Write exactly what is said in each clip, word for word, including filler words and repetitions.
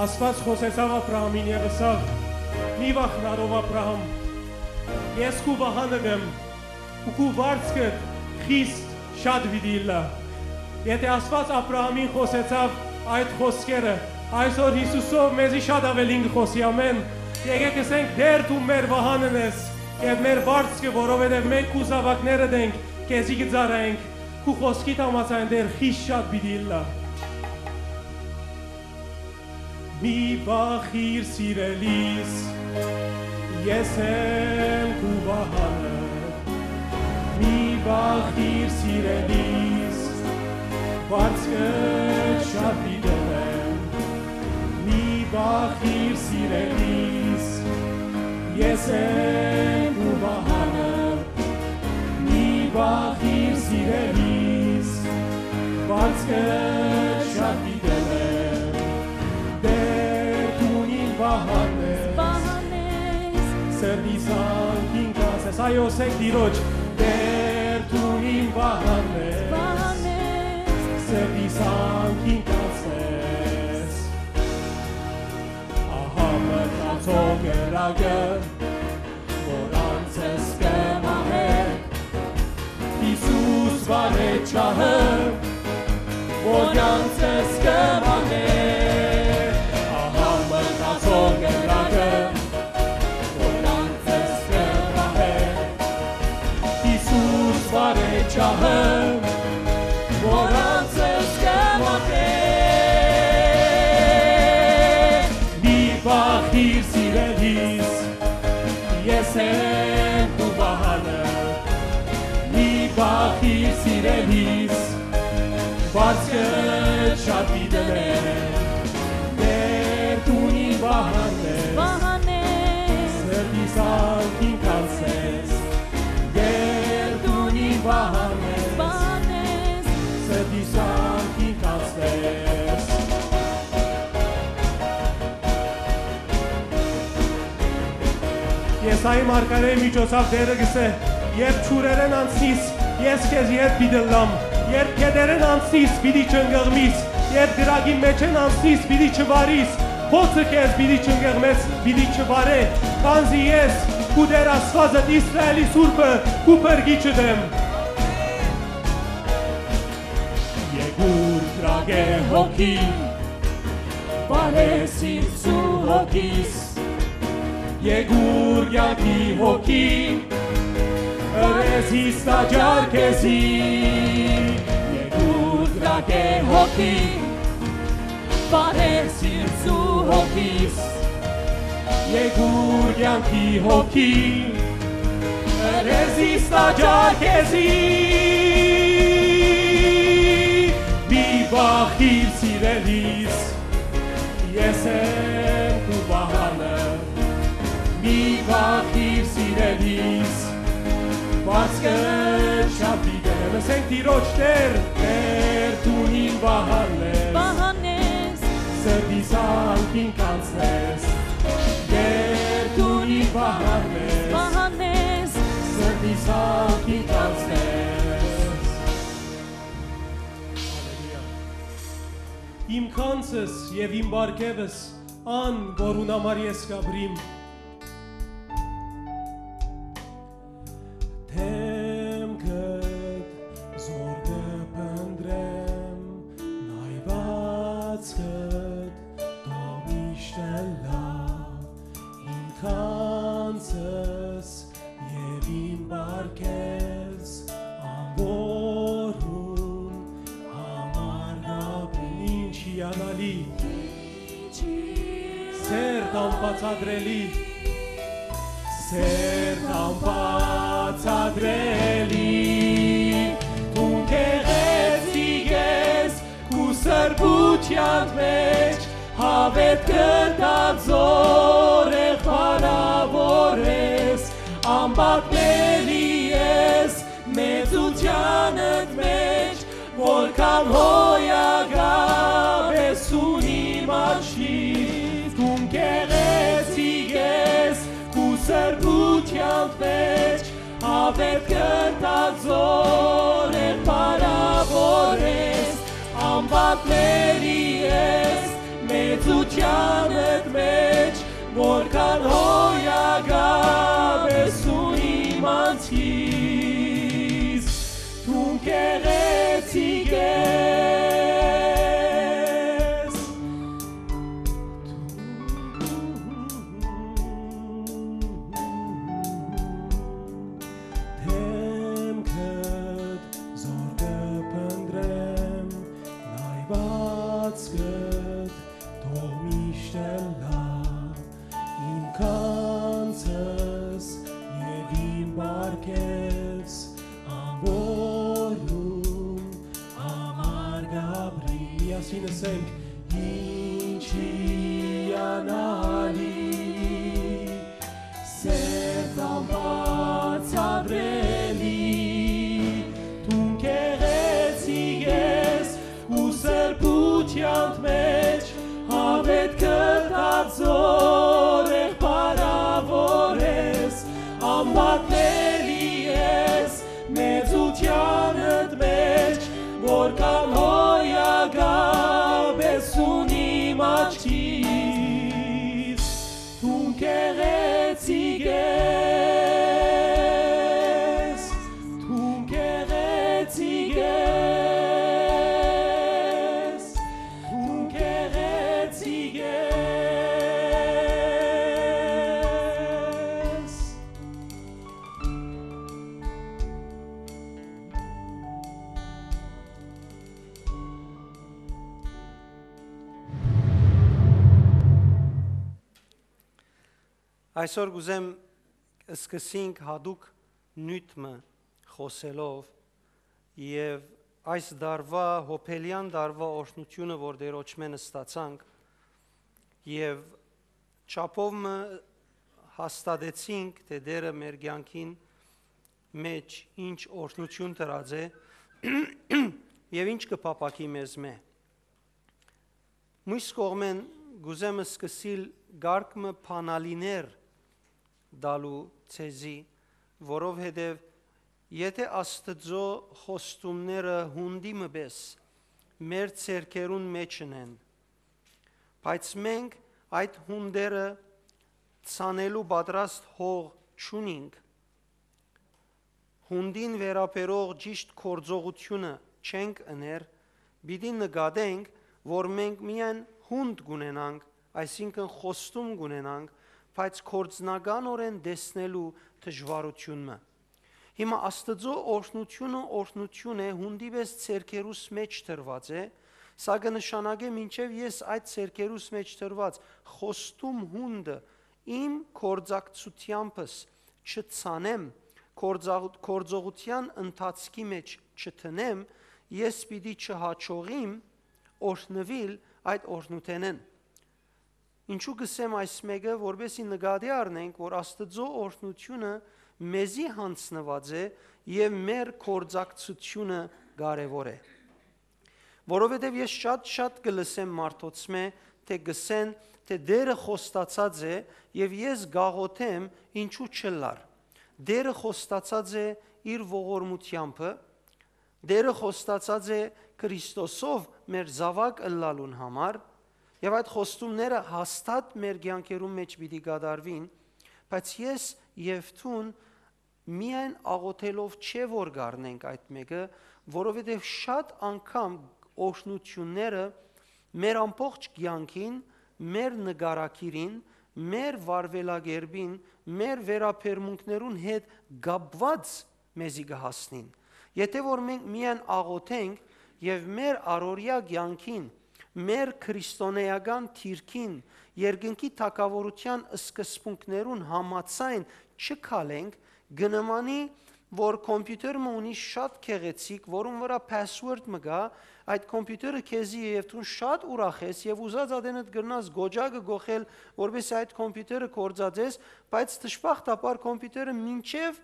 Աստուած խօսեցաւ Աբրահամին եւ ըսաւ. «Մի վախնար, ով Աբրահամ, ես քու վահանդ եմ ու քու վարձքդ խիստ շատ պիտի ըլլայ»։ Եթէ Աստուած Աբրահամին խօսեցաւ այդ խօսքերը, այսօր Յիսուսով մեզի շատ աւելին կը խօսի։ Ամէն։ Եկէք ըսենք. «Տէր, դուն մեր վահանն ես եւ մեր վարձքը, որովհետեւ մենք քու զաւակներդ ենք, քեզի կը ծառայենք, քու խօսքիդ համաձայն, Տէր, խիստ շատ պիտի ըլլայ»։ Մի վախիր, սիրելիս, ես եմ քու վահանը։ Մի վախիր, սիրելիս, վարձքդ շատ պիտի ըլլայ։ Մի վախիր, սիրելիս, ես եմ քու վահանը։ Մի վախիր, սիրելիս, վարձքդ շատ պիտի ըլլայ։ Տէր, դուն իմ վահանն ես, վահանն ես, սրտիս անկին կացես։ Այո, ըսենք Տիրոջ. «Տէր, դուն իմ վահանն ես, վահանն ես, սրտիս անկին կացես»։ Ահա մտածող կրակը, որ անձս կը մահէ, Յիսուս վառէ ջահը, որ անձս կը մահէ։ Ահա մտածող կրակը, որ անձս կը մահէ, Յիսուս վառէ ջահը, որ անձս կը մահէ։ Մի վախիր, սիրելիս, ես եմ քու վահանը։ Մի վախիր, սիրելիս, վարձքդ շատ պիտի ըլլայ։ Տէր, դուն իմ վահանն ես, վահանն ես, սրտիս անկին կացես։ Տէր, դուն իմ վահանն ես, վահանն ես, սրտիս անկին կացես։ Եսայի մարգարէի միջոցաւ Տէրը կ'ըսէ. «Երբ ջուրերէն անցնիս, ես քեզի հետ պիտի ըլլամ, երբ գետերէն անցնիս, պիտի չընկղմիս, երբ կրակին մէջէն անցնիս, պիտի չվարիս, խոցը քեզ պիտի չընկղմես, պիտի չվարէ, քանզի ես քու Տէր Աստուածդ, Իսրայէլի Սուրբը, քու փրկիչդ եմ»։ Եկուր կրակէ հոգի, վարես ինձ ու հոգիս, եկուր կեանքի հոգի, ըրես իս տաճար քեզի, եկուր կրակէ հոգի, վարես ինձ ու հոգիս, եկուր կեանքի հոգի, ըրես իս տաճար քեզի։ Մի վախիր, սիրելիս, ես եմ քու վահանը, մի վախիր, սիրելիս, վարձքը չափի դեմ։ Ըսենք Տիրոջ. «Տեր, Տեր, դուն իմ վահանն ես, վահանն ես, սրտիս անկին կանցնես, Տեր, դուն իմ վահանն ես, վահանն ես, սրտիս անկին կանցնես»։ Հալելույա։ Իմ գանձս եւ իմ պարգեւս, ան, որուն համար ես կ'ապրիմ։ Դէմքդ զօր կը փնտռեմ, նայուածքդ թող միշտ ըլլայ, իմ գանձս եւ իմ պարգևս, ան, որուն համար կ'ապրիմ։ Ինչ հիանալի, սերտ անբացատրելի, սերտ անբացատրելի, դուն գեղեցիկ ես քու սրբութեան մեջ, հաւէտ կը տայ զօրեղ փառաւորես, անպատմելի ես մեծութեանդ մեջ, որքան հոյակապ ես ունիմ աչքիս, դուն գեղեցիկ ես քու սրբութեան մեջ, հաւէտ կը տայ զօրեղ փառաւորես, անպատմելի ես Մեծութեանդ մէջ, որքան հոյակապ ես դուն իմ անձիս, դուն գեղեցիկ ես։ Դէմքդ զոր կը փնտռեմ, լայուածքդ թող միշտ ըլլայ իմ գանձս եւ իմ պարգեւս, ամբորում համար կ'ապրի։ Միասին ըսենք. «Ինչ հիանալի, սերտ անբացատրելի, դուն գեղեցիկ ես ու սրբութեանդ մէջ, յաւէտ կը տածոր եղբարաւոր ես, անպատմելի ես մեծութեանդ մէջ, որքան հոյակապ ես դուն իմ աչքիս, դուն գեղեցիկ ես, դուն գեղեցիկ ես, դուն գեղեցիկ ես»։ Այսօր կ'ուզեմ սկսենք յատուկ նիւթ մը խօսելով եւ այս տարուայ, յոբելեան տարուայ օրհնութիւնը, որ Տէրոջմէն ստացանք եւ չափով մը հաստատեցինք, թէ Տէրը մեր կեանքին մէջ ինչ օրհնութիւն դրած է եւ ինչ կը փափաքի մեզմէ։ Մյուս կողմէն, կ'ուզեմ սկսիլ կարգ մը բանալիներ տալու ձեզի, որովհետեւ եթէ Աստուծոյ խոստումները յունտի մը պէս մեր ձեռքերուն մէջ ընեն, բայց մենք այդ յունտերը ցանելու պատրաստ հող չունինք, յունտին վերաբերող ճիշտ գործողութիւնը չենք ըներ, պիտի նկատենք, որ մենք միայն յունտ կ'ունենանք, այսինքն՝ խոստում կ'ունենանք, բայց գործնականօրէն տեսնելու դժուարութիւն մը։ Հիմա Աստուծոյ օրհնութիւնը օրհնութիւն է, յունտի պէս ձեռքերուս մէջ դրուած է, սա կը նշանակէ, մինչեւ ես այդ ձեռքերուս մէջ դրուած խոստում յունտը իմ գործակցութեամբս չցանեմ, գործաղ-, գործողութեան ընթացքի մէջ չդնեմ, ես պիտի չհաջողիմ օրհնուիլ այդ օրհնութենէն։ Ինչու կ'ըսեմ այս մէկը, որպէսզի նկատի առնենք, որ Աստուծոյ օրհնութիւնը մեզի յանձնուած է եւ մեր գործակցութիւնը կարեւոր է։ Որովհետեւ ես շատ-շատ կը լսեմ մարդոցմէ, թէ կ'ըսեն, թէ Տէրը խոստացած է եւ ես կ'աղօթեմ, ինչու չըլլար։ Տէրը խոստացած է իր ողորմութեամբը, Տէրը խոստացած է Քրիստոսով մեր զաւակ ըլլալուն համար, եւ այդ խոստումները հաստատ մեր կեանքերուն մէջ պիտի կատարուին, բայց ես եւ դուն միայն աղօթելով չէ որ կ'առնենք այդ մէկը, որովհետեւ շատ անգամ օրհնութիւնները մեր ամբողջ կեանքին, մեր նկարագիրին, մեր վարուելակերպին, մեր վերաբերմունքներուն հետ կապուած մեզի կը հասնին։ Եթէ որ մենք միայն աղօթենք եւ մեր առօրեայ կեանքին, մեր քրիստոնէական դիրքին, երկնքի թագաւորութեան սկզբունքներուն համաձայն չքալենք, կը նմանի, որ computer մը ունի շատ գեղեցիկ, որուն վրայ password մը կայ, այդ computer-ը քեզի է եւ դուն շատ ուրախ ես եւ ուզած ատենդ կրնաս գոճակը գոխել, որպեսզի այդ computer-ը գործածես, բայց դժբախտաբար computer-ը մինչեւ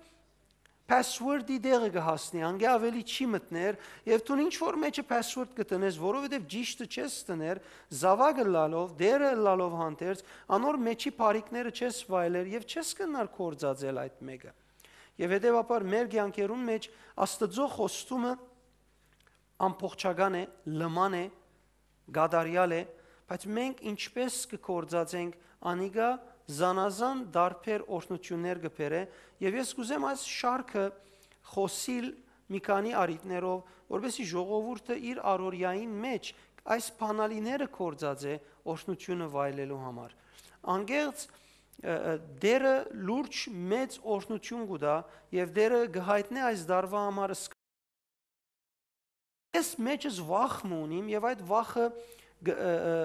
password-ի տեղը կը հասնի, անկէ աւելի չի մտներ, եւ դուն ինչ որ մէջը password կը տնես, որովհետեւ ճիշդը չես տներ, զաւակ ըլլալով, Տէրը ըլլալով հանդերձ, անոր մէջի բարիքները չես վայելեր եւ չես կրնար գործածել այդ մէկը։ Եւ հետեւաբար մեր կեանքերուն մէջ Աստուծոյ խոստումը ամբողջական է, լման է, կատարեալ է, Բայց մենք ինչպէս կը գործածենք անիկա, զանազան տարբեր օրհնութիւններ կը բերէ, եւ ես կ'ուզեմ այս շարքը խօսիլ մի քանի առիթներով, որպեսզի ժողովուրդը իր առօրեային մէջ այս բանալիները գործածէ օրհնութիւնը վայելելու համար։ Անկեղծ, ը, ը, Տէրը լուրջ մեծ օրհնութիւն կու տայ եւ Տէրը կը յայտնէ այս տարուայ համար. ես մեջս վախ մը ունիմ եւ այդ վախը գ-, ը, ը,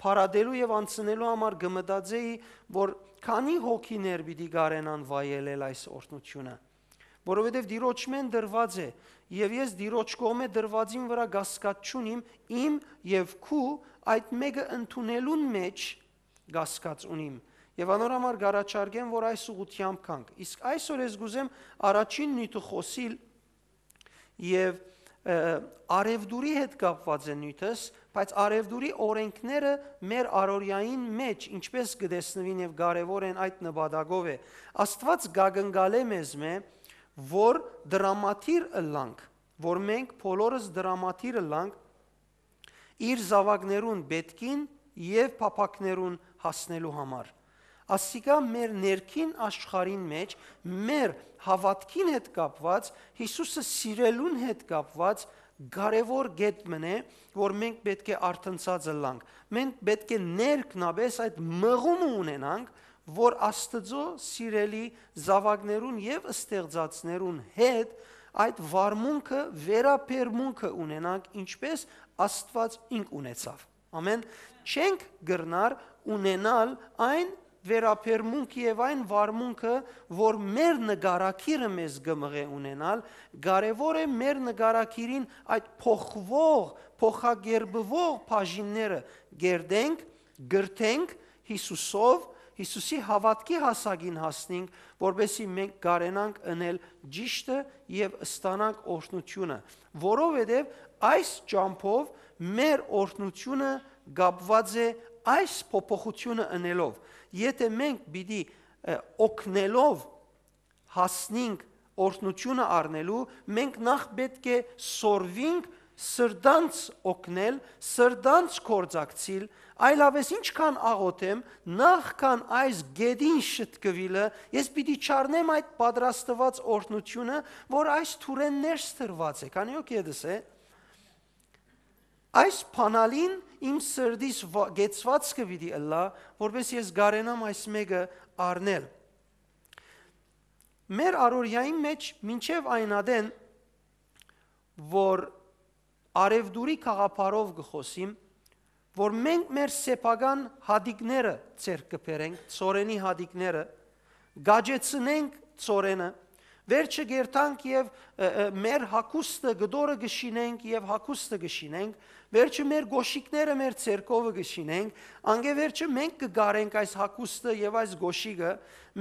փարատելու եւ անցնելու համար կը մտածէի, որ քանի՞ հոգիներ պիտի կարենան վայելել այս օրհնութիւնը, որովհետեւ Տիրոջմէն տրուած է, եւ ես Տիրոջ կողմէ տրուածին վրայ կասկած չունիմ, իմ եւ քու այդ մէկը ընդունելուն մէջ կասկած ունիմ։ Եւ անոր համար կ'առաջարկեմ, որ այս ուղղութեամբ գանք։ Իսկ այսօր ես կ'ուզեմ առաջին նիւթը խօսիլ, եւ, ը, արեւտուրի հետ կապուած է նիւթս, բայց արեւտուրի օրենքները մեր առօրեային մէջ ինչպէս կը տեսնուին եւ կարեւոր են, այդ նպատակով է։ Աստուած կ'ակնկալէ մեզմէ, որ դրամատիր ըլլանք, որ մենք բոլորս դրամատիր ըլլանք իր զաւակներուն պէտքին եւ փափաքներուն հասնելու համար։ Ասիկա մեր ներքին աշխարհին մէջ, մեր հաւատքին հետ կապուած, Յիսուսը սիրելուն հետ կապուած կարեւոր կետ մըն է, որ մենք պէտք է արթնցած ըլլանք։ Մենք պէտք է ներքնապէս այդ մղումը ունենանք, որ Աստուծոյ սիրելի զաւակներուն եւ ստեղծածներուն հետ այդ վարմունքը, վերաբերմունքը ունենանք, ինչպէս Աստուած ինք ունեցաւ։ Ամեն, չենք կրնար ունենալ այն վերաբերմունքը եւ այն վարմունքը, որ մեր նկարագիրը մեզ կը մղէ ունենալ, կարեւոր է մեր նկարագիրին այդ փոխուող, փոխակերպուող բաժինները կերտենք, կրթենք Յիսուսով, Յիսուսի հաւատքի հասակին հասնենք, որպեսզի մենք կարենանք ընել ճիշդը եւ ստանանք օրհնութիւնը, որովհետեւ այս ճամբով մեր օրհնութիւնը կապուած է այս փոփոխութիւնը ընելով։ Եթէ մենք պիտի, ը, օգնելով հասնենք օրհնութիւնը առնելու, մենք նախ պէտք է սորվինք սրտանց օգնել, սրտանց գործակցիլ, այլապես ինչքան աղօթեմ, նախքան այս գետին շտկուիլը, ես պիտի չառնեմ այդ պատրաստուած օրհնութիւնը, որ այս թուրէն ներս տրուած է, քանի որ գետս է։ Այս բանալին իմ սրտիս վա-, կեցուածքը պիտի ըլլայ, որպէս ես կարենամ այս մէկը առնել։ Մեր առօրեային մէջ մինչեւ այն ատեն, որ արեւտուրի գաղափարով կը խօսիմ, որ մենք մեր սեփական հատիկները ձեռք կը բերենք, ցորենի հատիկները, կաճեցնենք ցորենը, վերջը կերթանք եւ, ը, ը, մեր հագուստը, կտորը կը շինենք եւ հագուստը կը շինենք, վերջը մեր գոշիկները մեր ձեռքովը կը շինենք, անկէ վերջը մենք կը կարենք այս հագուստը եւ այս գոշիկը,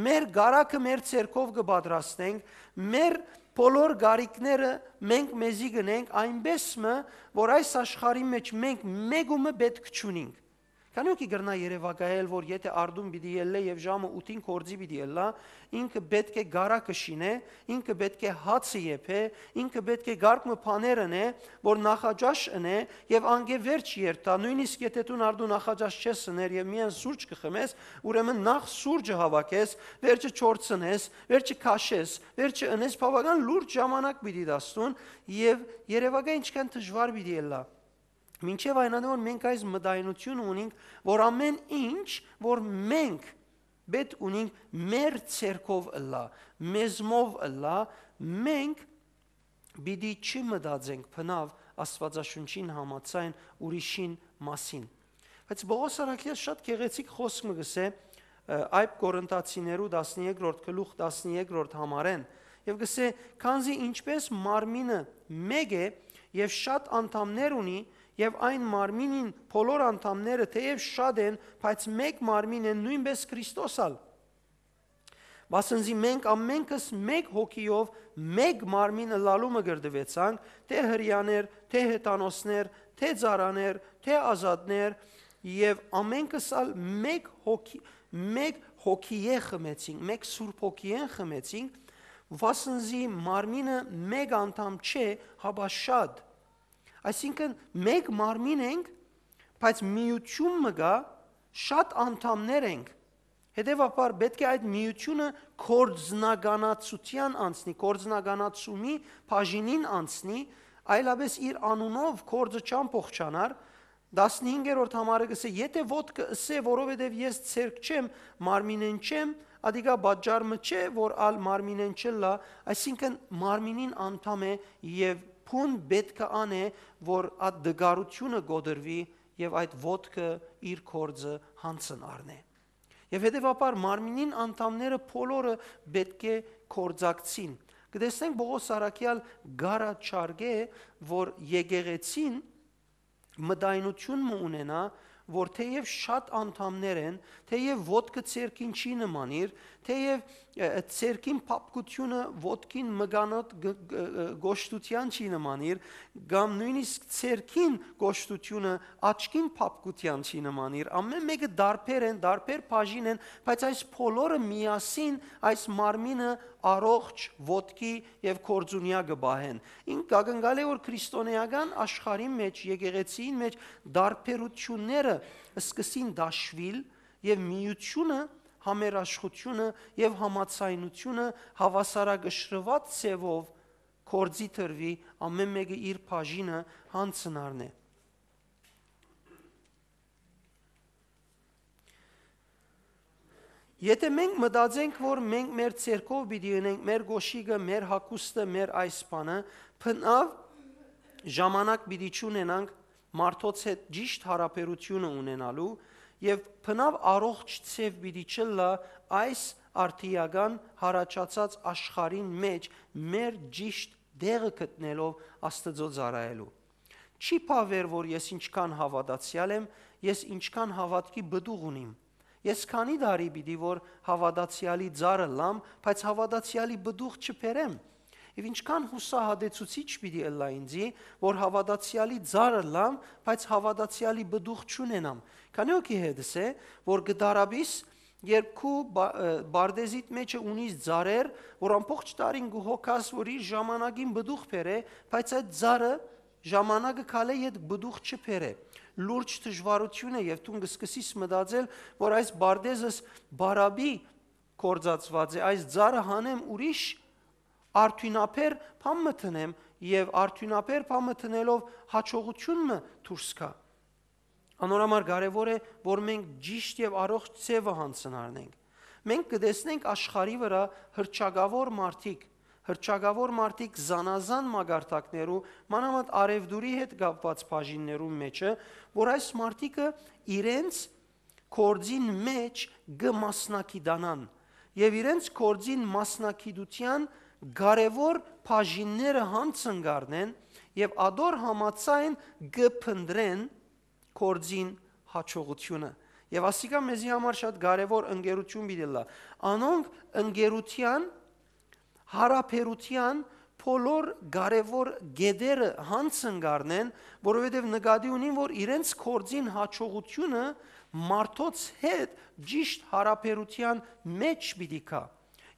մեր կարագը մեր ձեռքով կը պատրաստենք, մեր բոլոր կարիքները մենք մեզի կ'ընենք այնպէս մը, որ այս աշխարհի մէջ մենք մէկումը պէտք չունինք։ Քանի՞ հոգի կրնայ երեւակայել, որ եթէ Արտուն պիտի ելլէ եւ ժամը ութին գործի պիտի ելլայ, ինքը պէտք է կարագը շինէ, ինքը պէտք է հացը եփէ, ինքը պէտք է կարգ մը բաներ ընէ, որ նախաճաշ ընէ եւ անկէ վերջ երթայ, նոյնիսկ եթէ դուն Արտուն նախաճաշ չես ըներ եւ միայն սուրճ կը խմես, ուրեմն նախ սուրճը հաւաքես, վերջը չորցնես, վերջը քաշես, վերջը ընես, բաւական լուրջ ժամանակ պիտի տաս դուն եւ երեւակայ ինչքան դժուար պիտի ելլայ։ Մինչեւ այն ատեն որ մենք այս մտայնութիւնը ունինք, որ ամեն ինչ, որ մենք պէտք ունինք մեր ձեռքով ըլլայ, մեզմով ըլլայ, մենք պիտի չմտածենք բնաւ Աստուածաշունչին համաձայն ուրիշին մասին։ Բայց Պողոս առաքյալ շատ գեղեցիկ խօսք մը կ'ըսէ, ը, Այդ Կորինթացիներու տասներկրորդ գլուխ, տասներկրորդ համարէն, եւ կ'ըսէ. «Քանզի ինչպէս մարմինը մէկ է եւ շատ անդամներ ունի, եւ այն մարմինին բոլոր անդամները թէեւ շատ են, բայց մէկ մարմին են, նոյնպէս Քրիստոս ալ։ Վասն զի մենք ամենքս մէկ հոգիով մէկ մարմին ըլլալու մկրտուեցանք, թէ Հրեաներ, թէ Հեթանոսներ, թէ ծառաներ, թէ ազատներ, եւ ամենքս ալ մէկ հոգի, մէկ հոգիէ խմեցինք, մէկ Սուրբ Հոգիէն խմեցինք, վասն զի մարմինը մէկ անդամ չէ, հապա շատ»։ Այսինքն, մէկ մարմին ենք, բայց միութիւն մը կայ, շատ անդամներ ենք։ Հետեւաբար պէտք է այդ միութիւնը գործնականացութեան անցնի, գործնականացումի բաժինին անցնի, այլապէս իր անունով գործը չամբողջանար։ Տասնհինգերորդ համարը կ'ըսէ. «Եթէ ոտքը ըսէ, որովհետեւ ես ձեռք չեմ, մարմինէն չեմ, ադիկա պատճառ մը չէ, որ ալ մարմինէն չըլլայ», այսինքն մարմինին անդամ է եւ բուն պէտք է ան է, որ այդ տկարութիւնը կոտրուի եւ այդ ոտքը իր գործը յանցն առնէ։ Եւ հետեւաբար մարմինին անդամները բոլորը պէտք է գործակցին։ Կը տեսնենք Պողոս առաքեալ կ'առաջարկէ, որ եկեղեցին մտայնութիւն մը ունենայ, որ թէեւ շատ անդամներ են, թէեւ ոտքը ձեռքին չի նմանիր, թէեւ, ը, ը, ձեռքին փափկութիւնը ոտքին մկանոտ գ-, գ-, ը, գոշտութեան չի նմանիր, կամ նոյնիսկ ձեռքին գոշտութիւնը աչքին փափկութեան չի նմանիր։ Ամէն մէկը տարբեր են, տարբեր բաժին են, բայց այս բոլորը միասին այս մարմինը առողջ, ոտքի եւ գործունեայ կը պահեն։ Ինք կակնկալէ, որ քրիստոնեական աշխարհին մէջ, եկեղեցին մէջ տարբերութիւնները սկսին դաշուիլ եւ միութիւնը, համերաշխութիւնը եւ համաձայնութիւնը հաւասարակշռուած ձեւով գործի դրուի, ամէն մէկը իր բաժինը յանցն առնէ։ Եթէ մենք մտածենք, որ մենք մեր ձեռքով պիտի ընենք մեր կոշիկը, մեր հագուստը, մեր այս բանը, բնաւ ժամանակ պիտի չունենանք մարդոց հետ ճիշդ յարաբերութիւնը ունենալու եւ բնաւ առողջ ձեւ պիտի չըլլայ այս արդիական յառաջացած աշխարհին մէջ մեր ճիշտ տեղը գտնելով Աստուծոյ ծառայելու։ Չի բաւեր, որ ես ինչքան հաւատացեալ եմ, ես ինչքան հաւատքի պտուղ ունիմ։ Ես քանի՞ տարի պիտի որ հաւատացեալի ծառ ըլլամ, բայց հաւատացեալի պտուղ չբերեմ։ Եւ ինչքան յուսահատեցուցիչ պիտի ըլլայ ինծի, որ հաւատացեալի ծառ ըլլամ, բայց հաւատացեալի պտուղ չունենամ։ Քանի՞ հոգի հետս է, որ կը տառապիս, երբ քու բա-, ը, պարտեզիդ մէջը ունիս ծառեր, որ ամբողջ տարին կը հոգաս, որ իր ժամանակին պտուղ բերէ, բայց այդ ծառը ժամանակը քալէ յետ պտուղ չբերէ։ Լուրջ դժուարութիւն է եւ դուն կը սկսիս մտածել, որ այս պարտեզս բարապի գործածուած է, այս ծառը հանեմ ուրիշ արդիւնաբեր բան մը դնեմ եւ արդիւնաբեր բան մը դնելով յաջողութիւն մը դուրս գայ։ Անոր համար կարեւոր է, որ մենք ճիշտ եւ առողջ ձեւը յանցն առնենք։ Մենք կը տեսնենք աշխարհի վրայ հռչակաւոր մարդիկ, հռչակաւոր մարդիկ զանազան մակարդակներու, մանաւանդ արեւտուրի հետ կապուած բաժիններուն մէջը, որ այս մարդիկը իրենց գործին մէջ կը մասնակցանան եւ իրենց գործին մասնակցութեան կարեւոր բաժինները յանցն կ'առնեն եւ ատոր համաձայն կը փնտռեն գործին յաջողութիւնը։ Եւ ասիկա մեզի համար շատ կարեւոր ընկերութիւն պիտի ըլլայ։ Անոնք ընկերութեան, յարաբերութեան բոլոր կարեւոր կետերը յանցն կ'առնեն, որովհետեւ նկատի ունին, որ իրենց գործին յաջողութիւնը մարդոց հետ ճիշտ յարաբերութեան մէջ պիտի գայ։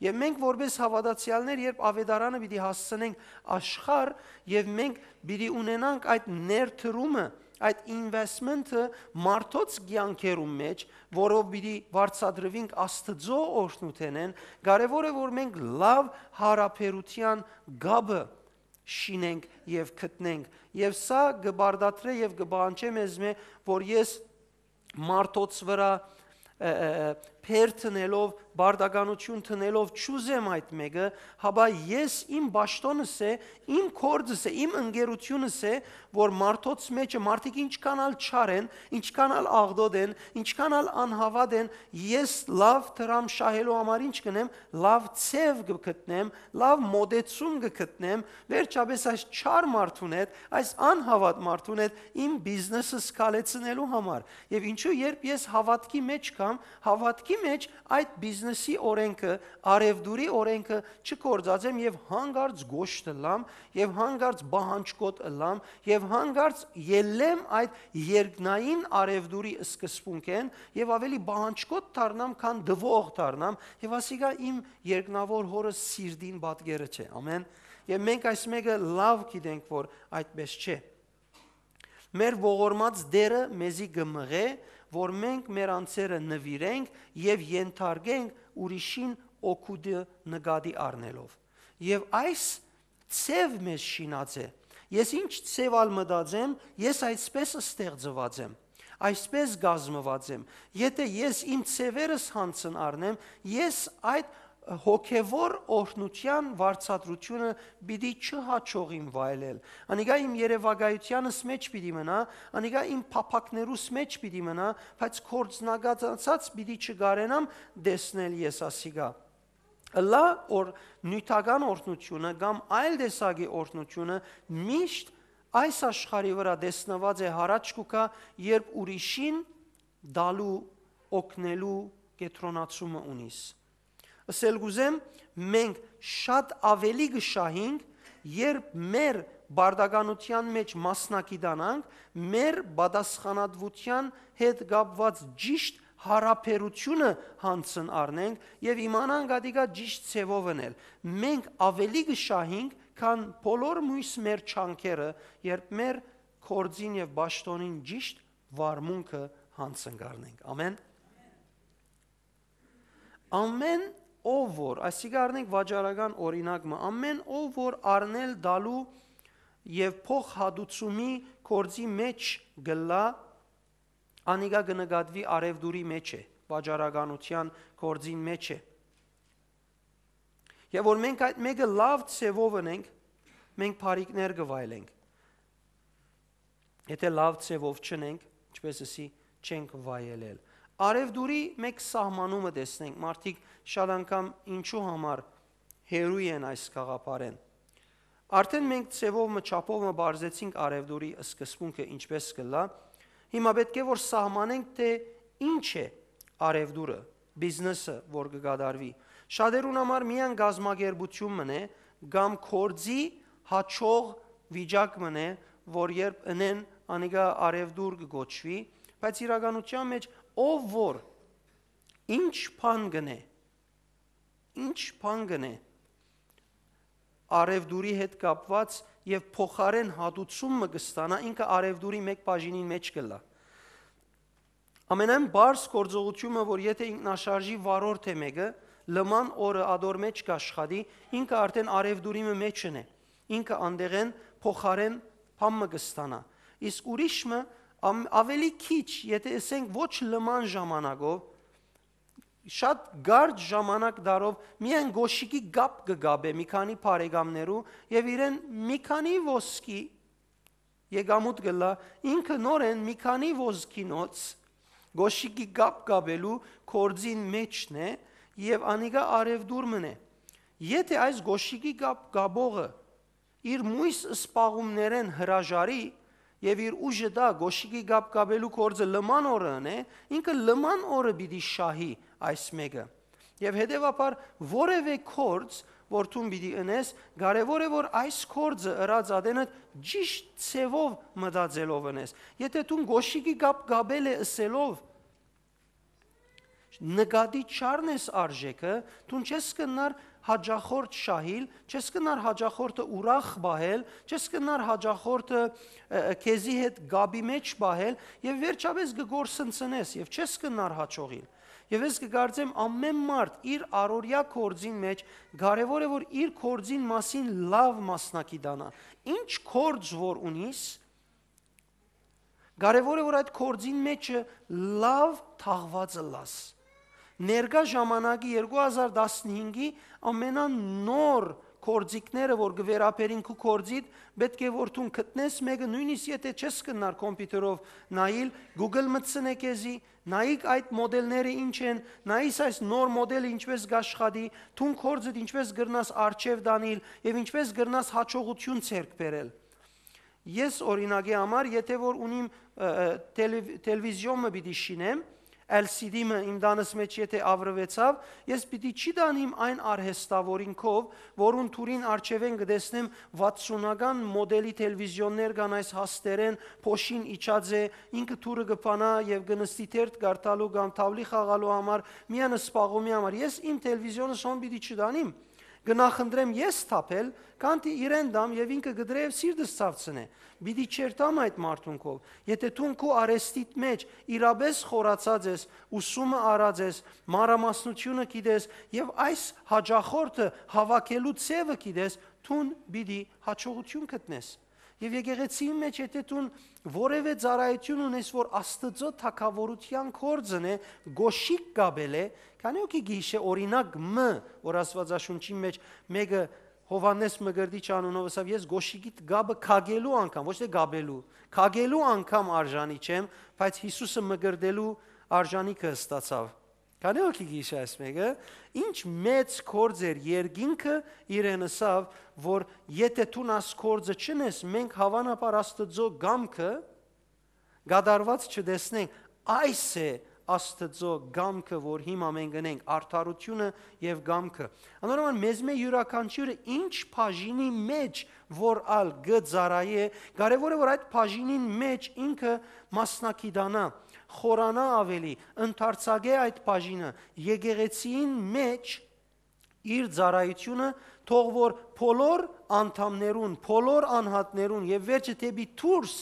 Եւ մենք որպես հաւատացեալներ, երբ աւետարանը պիտի հասցնենք աշխարհ եւ մենք պիտի ունենանք այդ ներդրումը, այդ investment-ը մարդոց կեանքերուն մէջ, որով պիտի վարձատրուինք Աստուծոյ օրհնութենէն, կարեւոր է, որ մենք լաւ յարաբերութեան կապը շինենք եւ գտնենք։ Եւ սա կը պարտադրէ եւ կը պահանջէ մեզմէ, որ ես մարդոց վրայ, ը, ը, ը, բեր դնելով, պարտականութիւն դնելով չուզեմ այդ մէկը, հապա ես իմ պաշտոնս է, իմ գործս է, իմ ընկերությունս է, որ մարդոց մէջը մարդիկ ինչքան ալ չար են, ինչքան ալ աղտոտ են, ինչքան ալ անհաւատ են, ես լաւ դրամ շահելու համար ինչ կ'ընեմ, լաւ ձեւ կը գտնեմ, լաւ մոտեցում կը գտնեմ, վերջապէս այս չար մարդուն հետ, այս անհաւատ մարդուն հետ իմ բիզնեսս քալեցնելու համար։ Եւ ինչու, երբ ես հաւատքի մէջ կամ, հաւատքի մէջ այդ բիզնեսի օրենքը, արեւտուրի օրենքը չգործածեմ եւ հանկարծ գոշտ ըլլամ, եւ հանկարծ պահանջկոտ ըլլամ, եւ հանկարծ ելլեմ այդ երկնային արեւտուրի սկզբունքէն, եւ աւելի պահանջկոտ դառնամ, քան տուող դառնամ, եւ ասիկա իմ երկնաւոր հօրս սիրտին պատկերը չէ։ Ամեն։ Եւ մենք այս մէկը լաւ գիտենք, որ այդպես չէ։ Մեր ողորմած Տէրը մեզի կը մղէ, որ մենք մեր անձերը նուիրենք եւ ենթարկենք ուրիշին օգուտը նկատի առնելով։ Եւ այս ձեւ մեզ շինած է։ Ես ինչ ձեւ ալ մտածեմ, ես այսպես ստեղծուած եմ, այսպես կազմուած եմ։ Եթէ ես իմ ձեւերս յանձն առնեմ, ես այդ հոգեվոր օրհնութեան վարձատրութիւնը պիտի չհաջողիմ վայելել։ Անիկա իմ երեւակայութեանս մէջ պիտի մնայ, անիկա իմ փափաքներուս մէջ պիտի մնայ, բայց գործնակացած պիտի չկարենամ տեսնել ես ասիկա։ Ըլլայ որ նիւթական օրհնութիւնը կամ այլ տեսակի օրհնութիւնը միշտ այս աշխարհի վրայ տեսնուած է, յառաջ կու գայ, երբ ուրիշին տալու, օգնելու կեդրոնացումը ունիս։ Ըսել կ'ուզեմ, մենք շատ աւելի կը շահենք, երբ մեր բարդականութեան մէջ մասնակիտանանք, մեր պատասխանատուութեան հետ կապուած ճիշտ յարաբերութիւնը յանձն առնենք եւ իմանանք ատիկա ճիշտ ձեւով ընել։ Մենք աւելի կը շահենք, քան բոլոր մոյս մեր չանքերը, երբ մեր գործին եւ պաշտօնին ճիշտ վարմունքը յանձն կ'առնենք։ Ամեն։ Ամեն ով որ, այսինքն առնենք վաճառական օրինակ մը, ամեն ով որ առնել տալու եւ փոխհատուցումի գործի մէջ կ'ըլլայ, անիկա կը նկատուի արեւտուրի մէջ է, վաճառականութեան գործին մէջ է։ Եւ որ մենք այդ մէկը լաւ ձեւով ընենք, մենք բարիքներ կը վայելենք։ Եթէ լաւ ձեւով չընենք, ինչպես ըսի, չենք վայելել։ Արեւտուրի մէկ սահմանումը տեսնենք, մարդիկ շատ անգամ ինչու համար հեռու են այս գաղափարէն։ Արդէն մենք ձևով մը, չափով մը բարձեցինք արեւտուրի սկզբունքը ինչպես կ'ըլլայ, հիմա պէտք է որ սահմանենք, թէ ինչ է արեւտուրը, բիզնեսը, որ կը կատարուի։ Շատերուն համար միայն կազմակերպություն մըն է, կամ գործի յաջող վիճակ մըն է, որ երբ ընեն, անիկա արեւտուր կը կոչուի, բայց իրականության մէջ ով որ ինչ բան կ'ընէ, ինչ բան կ'ընէ, արեւտուրի հետ կապուած եւ փոխարէն հատուցում մը կը ստանայ, ինքը արեւտուրի մէկ բաժինին մէջ կ'ըլլայ։ Ամենայն պարզ գործողութիւնը, որ եթէ ինքնաշարժի վարորդ է մէկը, լման օրը ատոր մէջ կ'աշխատի, ինքը արդէն արեւտուրի մը մէջն է, ինքը անտեղէն փոխարէն բան մը կը ստանայ։ Իսկ ուրիշ մը, ամ-, աւելի քիչ, եթէ ըսենք ոչ լման ժամանակով, շատ կարճ ժամանակ տալով միայն կոշիկի կապ կը կապէ մի քանի բարեկամներու եւ իրեն մի քանի ոսկի եկամուտ կ'ըլլայ, ինքը նորէն մի քանի ոսկինոց կոշիկի կապ կապելու գործին մէջն է եւ անիկա արեւտուր մըն է։ Եթէ այս կոշիկի կապ կապողը իր մոյս սպաղումներէն հրաժարի եւ իր ուժը տայ կոշիկի կապ կապելու գործը լման օրը ընէ, ինքը լման օրը պիտի շահի այս մէկը։ Եւ հետեւաբար որեւէ գործ, որ դուն պիտի ընես, կարեւոր է որ այս գործը ըրած ատենդ ճիշտ ձեւով մտածելով ընես։ Եթէ դուն կոշիկի կապ կապել է ըսելով, նկատի չառնես արժէքը, դուն չես կնար հաճախորդ շահիլ, չես կնար հաճախորդը ուրախ պահել, չես կնար հաճախորդը, ը, ը, քեզի հետ կապի մէջ պահել եւ վերջապէս կը կորսնցնես եւ չես կնար հաջողիլ։ Եւ ես կը կարծեմ, ամեն մարդ իր առօրեայ գործին մէջ կարեւոր է որ իր գործին մասին լաւ մասնակցի տանայ։ Ինչ գործ որ ունիս, կարեւոր է որ այդ գործին մէջը լաւ թաղուած ըլլաս։ Ներկայ ժամանակի երկու հազար տասնհինգի ամենանոր գործիքները, որ կը վերաբերին քու գործիդ, պէտք է որ դուն գտնես մէկը, նոյնիսկ եթէ չես կնար կոմպիւտերով նայիլ, Google մտցնէ քեզի, նայիկ այդ մոդելները ինչ են, նայիս այս նոր մոդելը ինչպես կ'աշխատի, դուն գործդ ինչպես կրնաս արջեւ տանիլ եւ ինչպես կրնաս հաջողութիւն ձեռք բերել։ Ես օրինակի համար, եթէ որ ունիմ, ը, ը, տելեվ-, տելևիզիոն մը պիտի շինեմ, L C D մը իմ տանս մէջ եթէ աւրուեցաւ, ես պիտի չի տանիմ այն արհեստավորինքով, որուն թուրին արջեւէն կը տեսնեմ վաթսունական մոդելի տելևիզիոններ կան այս հաստերեն, փոշին իջած է, ինքը թուրը կը փանայ եւ կը նստի թերթ կարդալու կամ թաւլի խաղալու համար, միայն սպաղումի համար։ Ես իմ տելևիզիոնս հոն պիտի չտանիմ, կը նախընտրեմ ես թափել, քանտի իրեն տամ եւ ինքը կը դրէ եւ սիրտս ցաւցնէ։ Պիտի չերթամ այդ մարդուն քով։ Եթե դուն քու արեստիդ մէջ իրապէս խորացած ես, ուսումը առած ես, մանրամասնութիւնը գիտես եւ այս հաճախորդը հաւաքելու ձեւը գիտես, դուն պիտի հաջողութիւն գտնես։ Եւ եկեղեցիին մէջ, եթե դուն որեւէ ծառայութիւն ունես, որ Աստուծոյ թագաւորութեան գործն է, կոշիկ կապել է, քանի՞ հոգի կը յիշէ օրինակ մը, որ Աստուածաշունչին մէջ մէկը Յովհաննէս Մկրտիչ անունով ըսաւ, «Ես կոշիկիդ կապը քակելու անգամ», ոչ թե կապելու, քակելու անգամ արժանի չեմ, բայց Յիսուսը մկրտելու արժանիքը ստացաւ։ Քանի՞ հոգի կը յիշէ այս մէկը, ինչ մեծ գործ էր երկինքը իրեն ըսաւ, որ եթե դուն աս գործը չընես, մենք հաւանաբար Աստուծոյ կամքը կատարուած չտեսնենք։ Այս է Աստուծոյ կամքը, որ հիմա մենք ընենք, արդարութիւնը եւ կամքը։ Անորոման մեզմէ իւրաքանչիւրը ինչ բաժինի մէջ որ ալ կը ծառայէ, կարեւոր է, որ այդ բաժինին մէջ ինքը մասնակիցանայ, խորանայ ավելի, ընդարձակէ այդ բաժինը, եկեղեցիին մէջ իր ծառայութիւնը, թող որ բոլոր անդամներուն, բոլոր անհատներուն եւ վերջը դէպի դուրս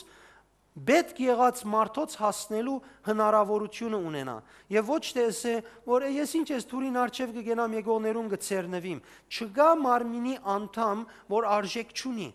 պէտք եղած մարդոց հասնելու հնարաւորութիւնը ունենայ։ Եւ ոչ թե ըսէ, որ «Ես ինչ ես դուրին առջեւ կը գնամ, եկողներուն կը ձեռնուիմ»։ Չկայ մարմինի անդամ, որ արժէք չունի։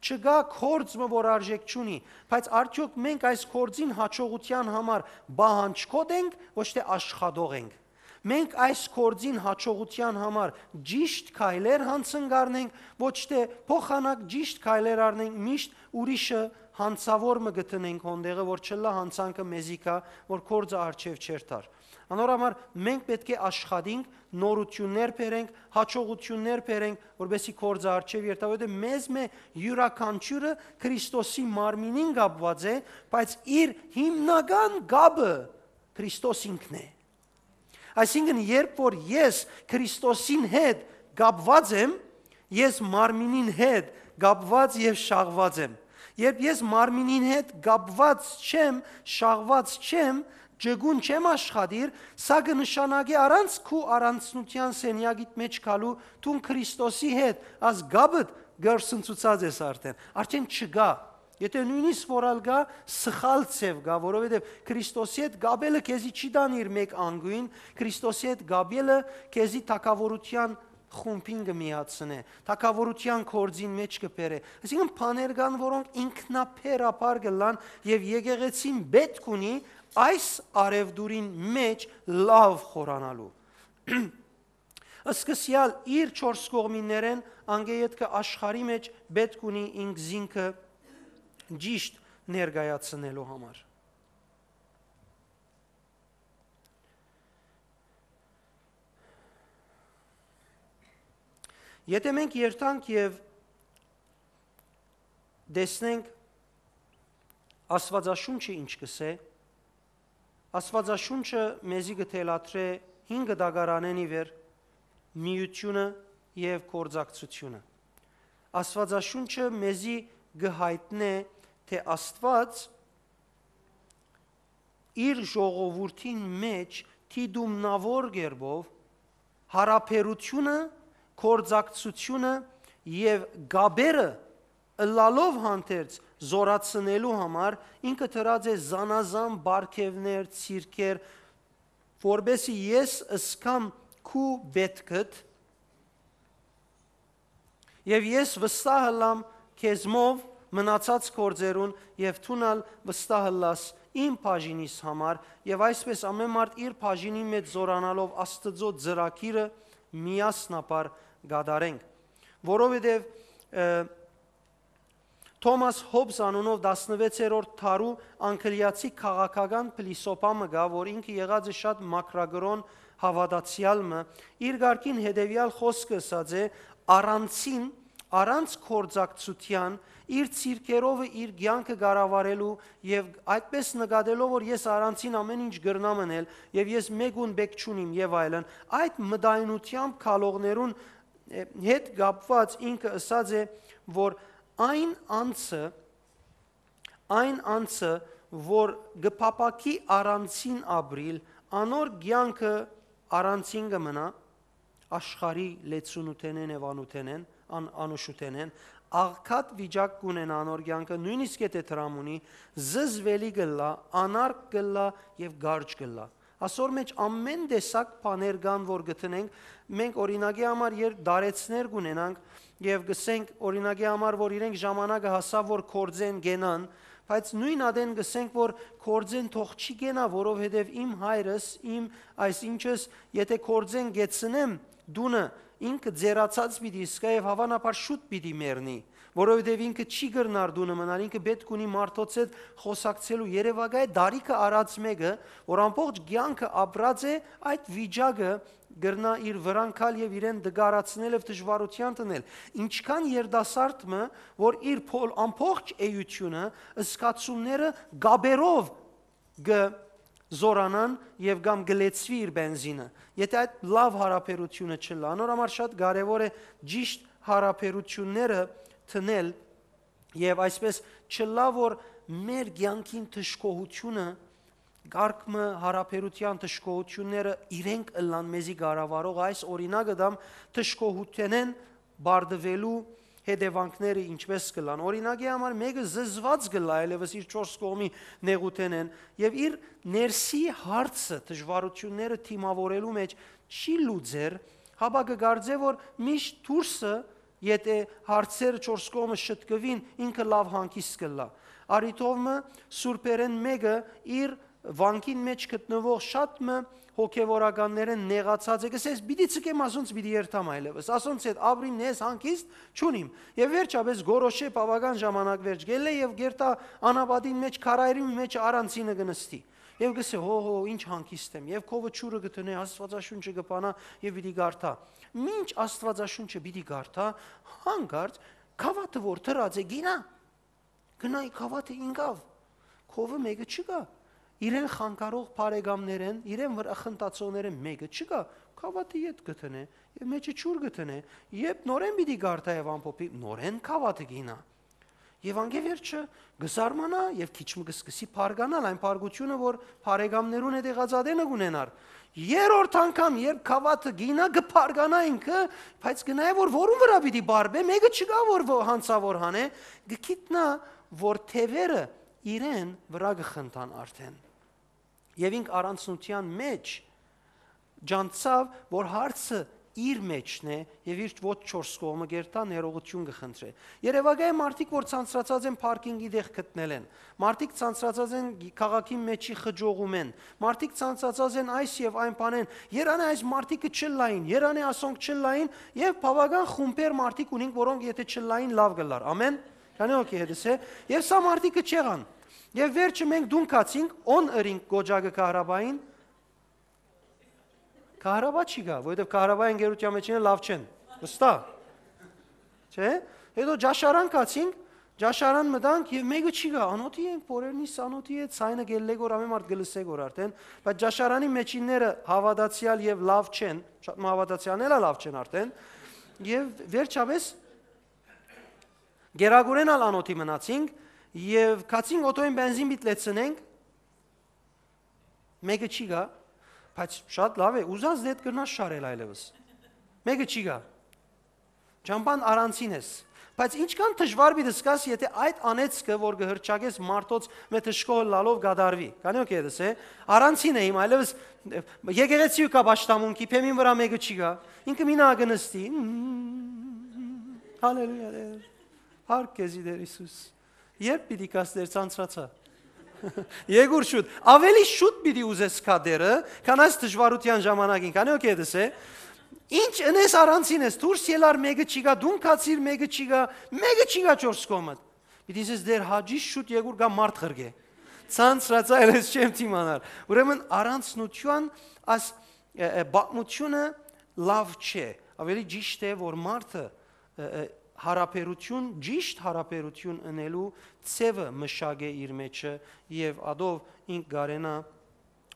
Չկայ գործ մը, որ արժէք չունի, բայց արդեօք մենք այս գործին հաջողութեան համար պահանջկոտ ենք, ոչ թե աշխատող ենք։ Մենք այս գործին հաջողութեան համար ճիշդ քայլեր յանցնենք, ոչ թե փոխանակ ճիշդ քայլեր առնենք, միշտ ուրիշը յանցաւոր մը գտնենք հոն տեղը, որ չըլլայ յանցանքը մեզի գայ, որ գործը առջեւ չերթար։ Անոր համար մենք պէտք է աշխատենք, նորութիւններ բերենք, հաջողութիւններ բերենք, որպեսզի գործը առջեւ երթայ, որովհետեւ մեզմէ իւրաքանչիւրը Քրիստոսի մարմինին կապուած է, բայց իր հիմնական կապը Քրիստոս ինքն է։ Այսինքն, երբ որ ես Քրիստոսին հետ կապուած եմ, ես մարմինին հետ կապուած եւ շաղուած եմ։ Երբ ես մարմինին հետ կապուած չեմ, շաղուած չեմ, ճկուն չեմ աշխատիր, սա կը նշանակէ առանց քու առանձնութեան սենեակիդ մէջ գալու, դուն Քրիստոսի հետ, աս կապդ կորսնցուցած ես արդեն, արդեն չկայ։ Եթե նոյնիսկ որ ալ կայ, սխալ ձեւ կայ, որովհետեւ Քրիստոսի հետ կապելը քեզի չի տանիր մէկ անգոյն, Քրիստոսի հետ կապելը քեզի թագաւորութեան խումբին կը միացնէ, թագաւորութեան գործին մէջ կը բերէ։ Այսինքն բաներ կան, որոնք ինքնաբերաբար կ'ըլլան եւ եկեղեցին պէտք ունի այս առեւտուրին մէջ լաւ խորանալու։ Սկսեալ իր չորս կողմիններէն, անգէ ետքը աշխարհի մէջ պէտք ունի ինքզինքը ճիշդ ներկայացնելու համար։ Եթե մենք երթանք եւ տեսնենք Աստուածաշունչը ինչ կ'ըսէ, Աստուածաշունչը մեզի կը թելադրէ հինգ դագարանէն ի վեր միութիւնը եւ գործակցութիւնը։ Աստուածաշունչը մեզի կը յայտնէ, թէ Աստուած իր ժողովուրդին մէջ դիտումնաւոր կերպով յարաբերութիւնը, գործակցութիւնը եւ կապերը ըլլալով հանդերձ զօրացնելու համար ինքը դրած է զանազան պարգեւներ, ցիրքեր, որպեսզի ես զգամ քու պէտքդ եւ ես վստահ ըլլամ քեզմով մնացած գործերուն եւ դուն ալ վստահ ըլլաս իմ բաժինիս համար, եւ այսպես ամէն մարդ իր բաժինին մէջ զօրանալով Աստուծոյ ծրագիրը միասնաբար կատարենք, որովհետեւ, ը, Թոմաս Հոբզ անունով տասնվեցերորդ դարու անգլիացի քաղաքական փիլիսոփա մը կայ, որ ինքը եղած է շատ մաքրակրօն հաւատացեալ մը, իր կարգին հետեւեալ խօսքը ըսած է. «Առանցին, առանց գործակցութեան, իր ցիրքերովը իր կեանքը կառավարելու եւ այդպես նկատելով, որ ես առանցին ամէն ինչ կրնամ ընել եւ ես մէկուն պէտք չունիմ» եւ այլն, այդ մտայնությամբ գալողներուն, ը, հետ կապուած ինքը ըսած է, որ այն անձը, այն անձը, որ կը փափաքի առանցին ապրիլ, անոր կեանքը առանցին կը մնայ, աշխարհի լեցունութենէն եւ անութենէն, ան-, անուշութենէն, աղքատ վիճակ կ'ունենայ անոր կեանքը, նոյնիսկ եթէ դրամ ունի, զզուելի կ'ըլլայ, անարգ կ'ըլլայ եւ կարճ կ'ըլլայ։ Ասոր մէջ ամէն տեսակ բաներ կան, որ կը դնենք։ Մենք, օրինակի համար, երբ դարեցներ կ'ունենանք եւ կ'ըսենք, օրինակի համար, որ իրենք ժամանակը հասաւ, որ գործեն կենան, բայց նոյն ատեն կ'ըսենք, որ գործեն թող չի կենայ, որովհետեւ իմ հայրս, իմ այս ինչս, եթէ գործեն կեցնեմ տունը, ինքը ձեռացած պիտի ըսկայ եւ հաւանաբար շուտ պիտի մեռնի, որովհետեւ ինքը չի կրնար տունը մնալ, ինքը պէտք ունի մարդոց հետ խօսակցելու։ Երեւակայ դարիքը առած մէկը, որ ամբողջ կեանքը ապրած է, այդ վիճակը կրնայ իր վրան գալ եւ իրեն տկարացնել եւ դժուարութեան դնել։ Ինչքան երիտասարդ մը, որ իր փոլ-, ամբողջ էությունը, զգացումները գաբերով կը զորանան եւ կամ կը լեցուի իր բենզինը, եթէ այդ լաւ յարաբերութիւնը չըլլայ։ Անոր համար շատ կարեւոր է ճիշտ յարաբերութիւնները դնել եւ այսպէս չըլլայ, որ մեր կեանքին դժգոհութիւնը, կարգ մը յարաբերութեան դժգոհութիւնները իրենք ըլլան մեզի կառավարող։ Այս օրինակը դամ դժգոհութենէն բարդուելու հետեւանքները ինչպէս կ'ըլլան։ Օրինակի համար, մէկը զզված կ'ըլլայ այլեւս իր չորս կողմի նեղութենէն եւ իր ներսի հարցը, դժուարութիւնները դիմաւորելու մէջ չի լուծեր, հապա կը կարծէ, որ միշտ դուրսը, եթէ հարցերը չորս կողմը շտկուին, ինքը լաւ հանգիստ կ'ըլլայ։ Արիթով մը սուրբերէն մէկը իր վանքին մէջ գտնուող շատ մը հոգեվորականներէն նեղացած է, կ'ըսես, «Պիտի ցկեմ, ասոնց պիտի երթամ այլեւս, ասոնց հետ ապրիմ, ես հանգիստ չունիմ»։ Եւ վերջապէս գորոշէ, բաւական ժամանակ վերջ գելլէ եւ գերտայ անապատին մէջ քարայրի մէջ առանցինը կը նստի։ Եւ կ'ըսէ, «Հո, հո, ինչ հանգիստ եմ»։ Եւ քովը ջուրը կը դնէ, Աստուածաշունչը կը բանայ եւ պիտի կարդայ։ Մինչ Աստուածաշունչը պիտի կարդայ, հանկարծ գաւաթը որ դրած է գինայ, գնայ գաւաթը ինկաւ, քովը մէկը չկայ, իրեն խանգարող բարեկամներէն, իրեն վրայ խնդացողներէն մէկը չկայ, գաւաթը ետ կը դնէ եւ մէջը ջուր կը դնէ, երբ նորէն պիտի կարդայ եւ ամփոփի, նորէն գաւաթը գինայ։ Եւ անկէ վերջը կը զարմանայ եւ քիչ մը կը սկսի բարկանալ այն բարկութիւնը, որ բարեկամներուն հետ եղած ատենը կ'ունենար։ Երրորդ անգամ, երբ գաւաթը գինայ, կը բարկանայ ինքը, բայց կը նայ, որ որուն վրայ պիտի բարբէ, մէկը չկայ, որ ո-, յանցաւոր հանէ, կը գիտնայ, որ թեւերը իրեն վրայ կը խնդան արդէն։ Եւ ինք առանձնութեան մէջ ջանցաւ, որ հարցը իր մէջն է եւ իր ոչ չորս կողմը գերտայ ներողութիւն կը խնդրէ։ Երեւակայ մարդիկ, որ ցանցրացած են պարքինգի տեղ գտնելէն, մարդիկ ցանցրացած են քաղաքին մէջի խճողումէն, մարդիկ ցանցրացած են այս եւ այն բանէն, երանի այս մարդիկը չլային, երանի ասոնք չլային, եւ բաւական խումբեր մարդիկ ունինք, որոնք եթէ չլային, լաւ կ'ըլլար։ Ամեն։ Քանի օքի հետս է, եւ սա մարդիկը չեղան։ Եւ վերջը մենք դուն գացինք, on ըրինք կոճակը քահրաբային, քահրաբա չի գայ, որովհետեւ քահրաբայի ընկերութեան մեջ ինքը լաւ չեն, վստահ, չէ՞։ Հետո ճաշարան գացինք, ճաշարան մտանք եւ մէկը չի գայ, անօթի ենք, բոլորնիս անօթի է, ցայնը գելլե գոր, ամեն մարդ կը լսէ գոր արդեն, բայց ճաշարանի մեջինները հաւատացեալ եւ լաւ չեն, շատ մը հաւատացեալներ ալ լաւ չեն արդեն, եւ վերջապէս գերագուրեն ալ անօթի մնացինք եւ գացինք օթոյին բենզին պիտի լեցնենք, մէկը չի գայ, բայց շատ լաւ է, ուզած դեդ կրնաս շարել այլեւս։ Մէկը չի գայ։ Ճամբան առանցին ես։ Բայց ինչքան դժուար պիտի զգաս, եթէ այդ անեծքը, որ կը հրճակես մարդոց մէ դժգոհ ըլլալով, կատարուի։ Քանի օքի հետս է, առանցին է իմ, այլեւս եկեղեցի ու կա պաշտամունքի, բեմին վրայ մէկը չի գայ։ Ինքը մինա կը նստի։ Հալելույա, Տեր։ Փառք քեզի, Տեր Հիսուս։ Երբ պիտի գաս, Տեր, ցանցրացայ։ Եկուր շուտ, ավելի շուտ պիտի ուզես գա Տերը, քան այս դժուարութեան ժամանակին, քանի օքի հետս է։ Ինչ ընես, առանցին ես, դուրս ելար, մէկը չի գայ, դուն գացիր, մէկը չի գայ, մէկը չի գայ չորս կողմդ։ Պիտի ասես, Տեր, հաճի շուտ եկուր, գայ մարդ ղրկէ։ Ցանցրացայ, ես չեմ դիմանար։ Ուրեմն առանցնութեան այս, ը, ը, պատմութիւնը լաւ չէ։ Ավելի ճիշտ է, որ մարդը, ը, ը, յարաբերութիւն, ճիշտ յարաբերութիւն ընելու ձևը մշակէ իր մեջը եւ ատով ինք կարենայ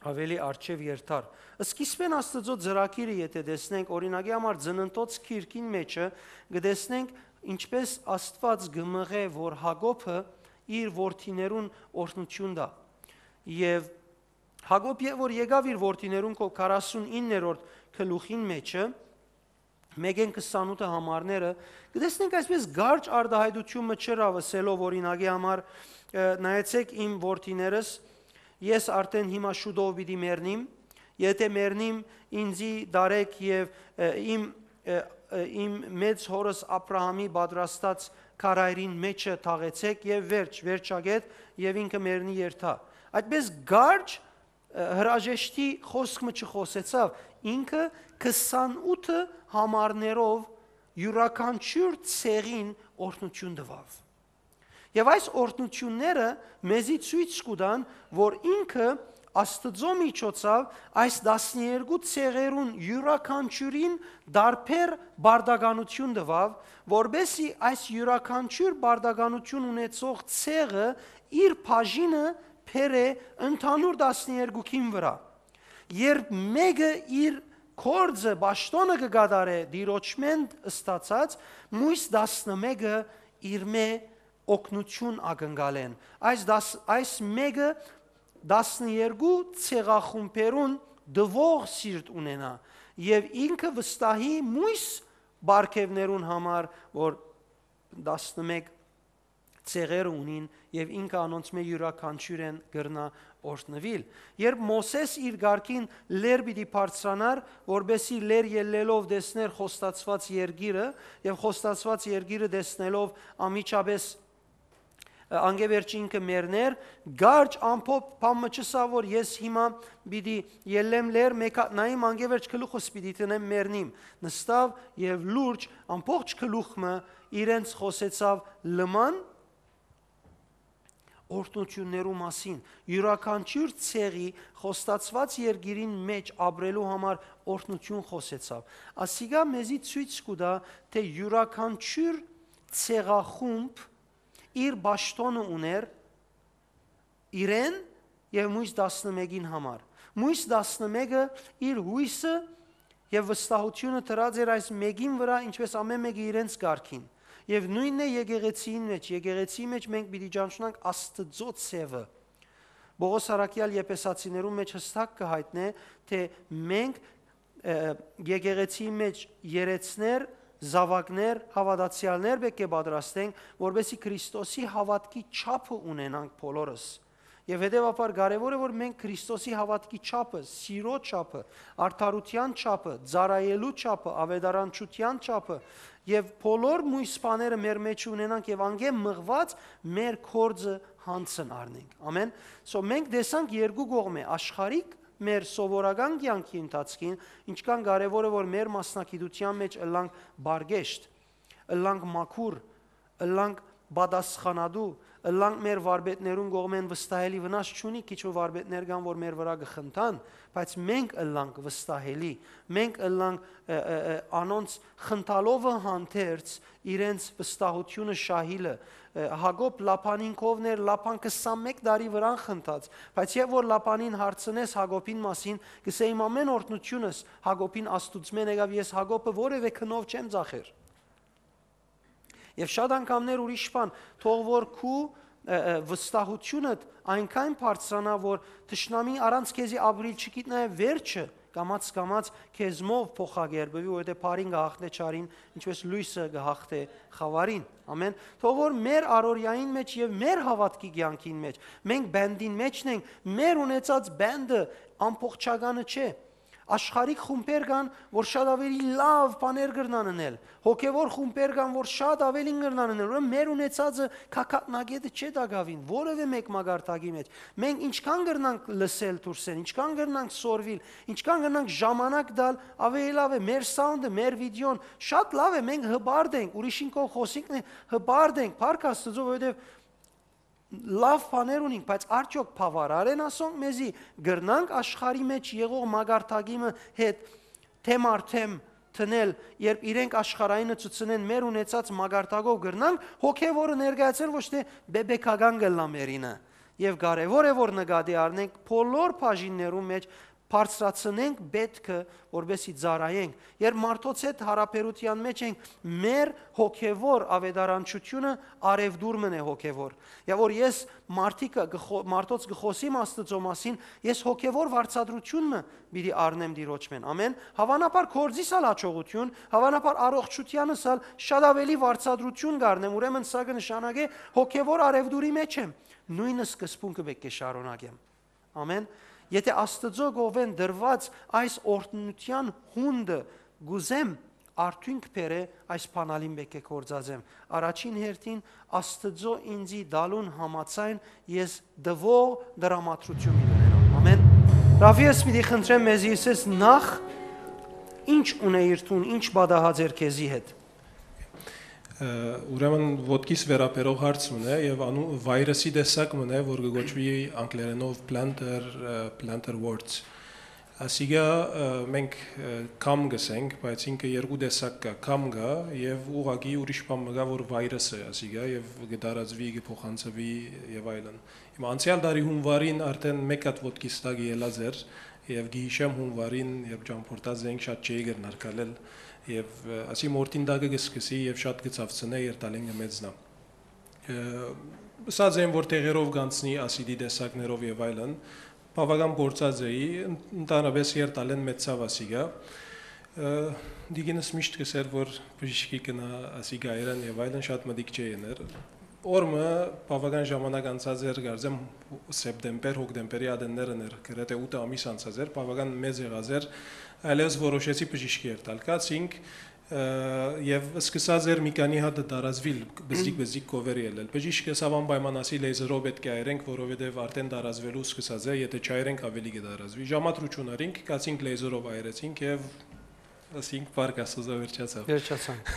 ավելի առջեւ երթար։ Սկիզբէն Աստուծոյ ծրագիրը եթէ տեսնենք, օրինակի համար, Ծննդոց գիրքին մեջը կը տեսնենք, ինչպէս Աստուած կը մղէ, որ Յակոբը իր որդիներուն օրհնութիւն տայ։ Եւ Յակոբ, երբ որ եկաւ իր որդիներուն քով քառասունիններորդ գլուխին մեջը, մէկէն քսանութը համարները, կը տեսնենք այսպես կարճ արտայայտութիւն մը չըրաւ ըսելով օրինակի համար, ը, «Նայեցէք իմ որդիներս, ես արդէն հիմա շուտով պիտի մեռնիմ, եթե մեռնիմ, ինծի դարէք եւ, ը, իմ, ը, ը, իմ մեծ հօրս Աբրահամի պատրաստած քարայրին մէջը թաղեցէք եւ վերջ, վերջագէտ, եւ ինքը մեռնի երթայ»։ Այդպես կարճ, ը, հրաժեշտի խօսք մը չխօսեցաւ, ինքը քսանութը համարներով իւրաքանչիւր ցեղին օրհնութիւն տուաւ։ Եւ այս օրհնութիւնները մեզի ցոյց կու տան, որ ինքը Աստուծոյ միջոցաւ այս տասներկու ցեղերուն իւրաքանչիւրին տարբեր պարտականութիւն տուաւ, որպէսզի այս իւրաքանչիւր պարտականութիւն ունեցող ցեղը իր բաժինը բերէ ընդհանուր տասներկուքին վրայ։ Երբ մէկը իր գործը, պաշտօնը կը կատարէ Տիրոջմէն ստացած, միւս տասնմէկը իրմէ օգնութիւն ակնկալեն։ Այս տաս-, այս մէկը տասներկու ցեղախումբերուն տուող սիրտ ունենայ եւ ինքը վստահի միւս պարգեւներուն համար, որ տասնմէկ ցեղերը ունին եւ ինքը անոնցմէ իւրաքանչիւրէն կրնայ օրհնուիլ։ Երբ Մովսէս իր կարգին լեռ պիտի բարձրանար, որպէսզի լեռ ելլելով տեսներ խոստացուած երկիրը եւ խոստացուած երկիրը տեսնելով անմիջապէս, ը, անկէ վերջ ինքը մեռներ, կարճ ամփոփ բան մը չըսաւ, որ ես հիմա պիտի ելլեմ լեռ, մէկ հատ նայեմ, անկէ վերջ գլուխս պիտի դնեմ, մեռնիմ։ Նստաւ եւ լուրջ ամբողջ գլուխ մը իրենց խօսեցաւ լման օրհնութիւններու մասին, իւրաքանչիւր ցեղի խոստացուած երկիրին մէջ ապրելու համար օրհնութիւն խօսեցաւ։ Ասիկա մեզի ցոյց կու տայ, թէ իւրաքանչիւր ցեղախումբ իր պաշտօնը ունէր իրեն եւ միւս տասնմէկին համար։ Միւս տասնմէկը իր յոյսը եւ վստահութիւնը դրած էր այս մէկին վրայ, ինչպէս ամէն մէկը իրենց կարգին։ Եւ նոյնն է եկեղեցիին մէջ, եկեղեցիի մէջ մենք պիտի ճանչնանք Աստուծոյ ցեւը։ Պողոս առաքեալ Եփեսացիներուն մէջ յստակ կը յայտնէ, թէ մենք, ը, եկեղեցիի մէջ երեցներ, զաւակներ, հաւատացեալներ պէտք է պատրաստենք, որպէսզի Քրիստոսի հաւատքի չափը ունենանք բոլորս։ Եւ հետեւաբար կարեւոր է, որ մենք Քրիստոսի հաւատքի չափը, սիրո չափը, արդարութեան չափը, ծառայելու չափը, աւետարանչութեան չափը եւ բոլոր միւս բաները մեր մէջ ունենանք եւ անկէ մղուած մեր գործը յանձն առնենք։ Ամէն։ So մենք տեսանք երկու կողմէ, աշխարհիկ մեր սովորական կեանքի ընթացքին, ինչքան կարեւոր է, որ մեր մասնակցութեան մէջ ըլլանք բարգեշտ, ըլլանք մաքուր, ըլլանք պատասխանատու, ըլլանք մեր վարպետներուն կողմէն վստահելի, վնաս չունի քիչ մը վարպետներ կան, որ մեր վրայ կը խնդան, բայց մենք ըլլանք վստահելի, մենք ըլլանք, ը, ը, ը, անոնց խնդալովը հանդերձ իրենց վստահութիւնը շահիլը։ Ը, Յակոբ Լաբանին կովն էր, Լաբան քսանմէկ տարի վրան խնդաց, բայց երբ որ Լաբանին հարցնես Յակոբին մասին, կսե իմ ամէն օրհնութիւնս Յակոբին Աստուծմէն եկաւ, ես Յակոբը որևէ գնով չեմ ծախեր։ Եւ շատ անգամներ ուրիշ բան, թող որ քու, ը, ը, վստահութիւնդ այնքան բարձրանայ, որ թշնամին առանց քեզի ապրիլ չգիտնայ վերջը, կամաց-կամաց քեզմով փոխակերպուի, որովհետեւ բարին կը հաղթէ չարին, ինչպես լոյսը կը հաղթէ խաւարին։ Ամէն։ Թող որ մեր առօրյային մէջ եւ մեր հաւատքի կեանքին մէջ, մենք բենդին մէջն ենք, մեր ունեցած բենդը ամբողջականը չէ։ Աշխարհիկ խումբեր կան, որ շատ ավելի լաւ բաներ կրնան ընել։ Հոգեվոր խումբեր կան, որ շատ ավելին կրնան ընել։ Ուրեմն մեր ունեցածը քաքատնագետը չէ տակաւին, որևէ մէկ մակարդակի մէջ։ Մենք ինչքան կրնանք լսել դուրսէն, ինչքան կրնանք սորվիլ, ինչքան կրնանք ժամանակ տալ, ավելի լաւ է մեր սաունդը, մեր վիդեոն, շատ լաւ է, մենք հպարտ ենք, ուրիշին կողմ խօսինքն է, հպարտ ենք, փառք Աստուծո, որովհետեւ լաւ բաներ ունինք, բայց արդյոք բաւարար են ասոնք մեզի, կրնանք աշխարհի մէջ եղող մակարդակի մը հետ թեմ առ թեմ դնել, երբ իրենք աշխարհայինը ցուցնեն, մեր ունեցած մակարդակով կրնանք հոգեվորը ներկայացնել, ոչ թէ բեբեկական կ'ըլլայ մերինը։ Եւ կարեւոր է, որ նկատի առնենք բոլոր բաժիններուն մէջ բարձրացնենք պէտքը, որպեսզի ծառայենք։ Երբ մարդոց հետ յարաբերութեան մէջ ենք, մեր հոգեվոր աւետարանչութիւնը արեւտուր մըն է հոգեվոր։ Եւ որ ես մարդիկը կը խո-, մարդոց կը խօսիմ Աստուծոյ մասին, ես հոգեվոր վարձատրութիւն մը պիտի առնեմ Տիրոջ մէն։ Ամեն, հաւանաբար գործիս ալ յաջողութիւն, հաւանաբար առողջութեանս ալ շատ աւելի վարձատրութիւն կ'առնեմ, ուրեմն սա կը նշանակէ հոգեվոր արեւտուրի մէջ եմ, նոյն սկզբունքը պէտք է շարունակեմ։ Ամեն։ Եթէ Աստուծոյ կողմէն տրուած այս օրհնութեան յունտը կ'ուզեմ արդիւնք բերէ, այս բանալին պէտք է գործածեմ։ Առաջին հերթին Աստուծոյ ինծի տալուն համաձայն ես տուող տրամադրութիւն պիտի ունենամ։ Ամեն։ Ռաֆի, ես պիտի խնդրեմ մեզի, ասես, նախ ինչ ունէիր դուն, ինչ պատահած էր քեզի հետ։ Ը, ուրեմն ոտքիս վերաբերող հարց մըն է եւ անու-, վայրսի տեսակ մըն է, որ կը կոչուի անգլերենով plantar, ը, plantar warts։ Ասիկա, ը, մենք, ը, կամ կ'ըսենք, բայց ինքը երկու տեսակ կայ, կամ կայ եւ ուղղակի ուրիշ բան մը կայ, որ վայրս է, ասիկա, եւ կը տարածուի, կը փոխանցուի եւ այլն։ Հիմա անցեալ տարի յունուարին արդեն մէկ հատ ոտքիս տակը ելած էր եւ գիշեմ յունուարին, երբ ճամփորդած էինք, շատ չէի կրնար քալել եւ, ը, ասի մորթին տակը կը սկսի եւ շատ կը ցաւցնէ, երթալին կը մեծնայ։ Ը, ըսած են, որ դեղերով կ'անցնի, ասիդի տեսակներով եւ այլն, բաւական փորձած էի, ըն-, ընդհանրապէս երթալեն մեծցաւ ասիկա։ Ը, դիկինս միշտ կ'ըսէր, որ բժիշկի գնայ, ասի գայրան եւ այլն, շատ մտիկ չէ ըներ։ Օր մը բաւական ժամանակ անցած էր, կարծեմ, սեպտեմբեր, հոկտեմբերի ատեններ ըներ, գրեթէ ութ ամիս անցած էր, բաւական մեծ եղած էր, այլեւս որոշեցի բժիշկի երթալ։ Գացինք, ը, եւ սկսած էր մի քանի հատ տարածուիլ, բզդիկ-բզդիկ կովեր ելել։ Բժիշկը ըսաւ անպայման, ասի, լեյզերով պէտք է այրենք, որովհետեւ արդեն տարածուելու սկսած է, եթէ չայրենք, աւելի կը տարածուի։ Ժամադրութիւն առինք, գացինք լեյզերով այրեցինք եւ ասինք, փառք Աստուծոյ, վերջացաւ։ Վերջացանք։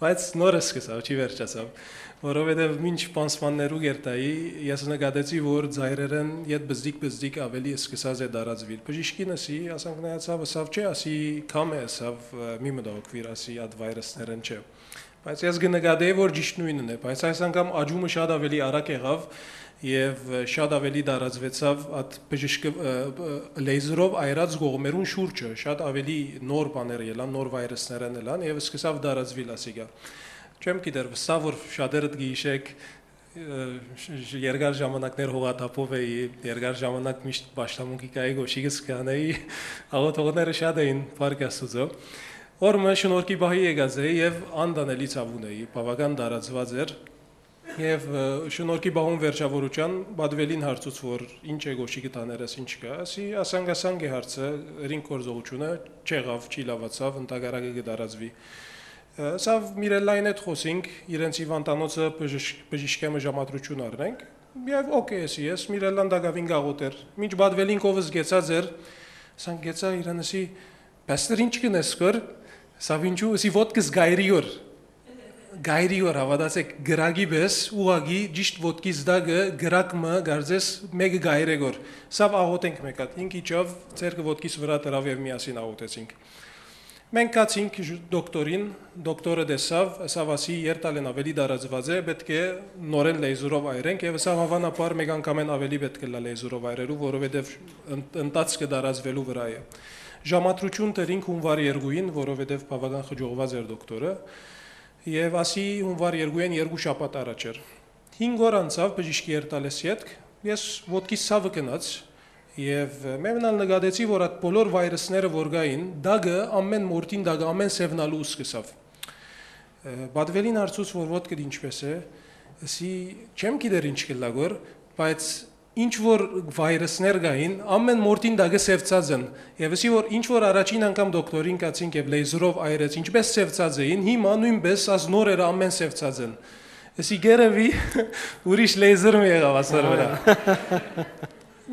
Բայց նոր սկսաւ, չի վերջացաւ, որովհետեւ մինչ պանսմաններու կերտայի, ես նկատեցի, որ ծայրերեն յետ բզդիկ-բզդիկ աւելի սկսած է տարածուիլ։ Բժիշկին ըսի, ասանք նայեցաւ, ըսաւ, չէ, ասի, կամ է, ըսաւ, ը, մի մտահոգուիր, ասի, այդ վայրսներեն չէ։ Բայց ես կը նկատեի, որ ճիշդ նոյնն է, բայց այս անգամ աճումը շատ աւելի արագ եղաւ եւ, ը, շատ աւելի տարածուեցաւ այդ բժիշկը, ը, ը, լեյզերով այրած կողմերուն շուրջը, շատ աւելի նոր բաներ ելան, նոր վայրսներեն ելան եւ սկսաւ տարածուիլ ասիկա։ Չեմ գիտեր, վստահ որ շատերդ կը յիշեք, ը, շ-, շ-, երկար ժամանակներ հողաթափով էի, երկար ժամանակ միշտ պաշտամունքի կայի գոշիկս կանեի, աղոթողները շատ էին, փառք Աստուծոյ։ Օր մը շնորհքի պահի եկած էի եւ անտանելի ցաւուն էի, բաւական տարածուած էր։ Եւ, ը, շնորհքի պահուն վերջավորութեան պատուելին հարցուց, որ ինչ է գոշիկը տաներս, ինչ կայ, ասի, ասանկ-ասանկ է հարցը, ըրինք գործողութիւնը, չեղաւ, չի լաւացաւ, ընդհակառակը կը տարածուի։ Ը, սա Միրելլային հետ խօսինք, իրենց հիվանդանոցը բժիշ-, բժիշկեմը ժամադրութիւն առնենք, եւ օքեյ, էսի ես, Միրելլան տակաւին գաղոտ էր, մինչ պատուելին կովս գեցած էր, սանկ գեցա իրեն, ասի, «Պաստոր, ինչ կ'ընես կոր»։ Սա ինչու, ասի, ոտքս գայրի օր, գայրի օր, հաւատացեք, գրակի պէս, ուղղակի ճիշտ ոտքիս տակը գրակ մը, կարծես մէկը գայր է գոր։ Սա աղոթենք մէկ հատ, ինք իջաւ, ձեռքը ոտքիս վրայ դրաւ եւ միասին աղոթեցինք։ Մենք գացինք ժ-, դոկտորին, դոկտորը տեսաւ, ըսաւ, ասի, երթալեն աւելի տարածուած է, պէտք է նորեն լեյզերով այրենք, եւ ըսաւ, հաւանաբար մէկ անգամէն աւելի պէտք է լա լեյզերով այրելու, որովհետեւ ըն-, ընթացքը տարածուելու վրայ է։ Ժամադրութիւն տըրինք յունուար երկուին, որովհետեւ բաւական խճողուած էր դոկտորը, եւ ասի, յունուար երկուին երկու շաբաթ առաջ էր։ Հինգ օր անցաւ բժիշկի երթալէս ետք, ես ոտքիս ցաւը գնաց, եւ մեմնալ նկատեցի, որ այդ բոլոր վայրսները որ կային, տակը, ամեն մորթին տակը, ամեն սեւնալու սկսաւ։ Ը, պատուելին հարցուց, որ ոտքդ ինչպէս է, ասի, չեմ գիտեր ինչ կ'ըլլայ գոր, բայց ինչ որ վայրսներ կային, ամեն մորթին տակը սևցած են, եւ ասի, որ ինչ որ առաջին անգամ դոկտորին գացինք եւ լեյզերով այրեց, ինչպէս սևցած էին, հիմա նոյնպէս աս նորերը ամեն սևցած են։ Ասի, գերեւի ուրիշ լեյզեր մը եղաւ ասոր վրայ։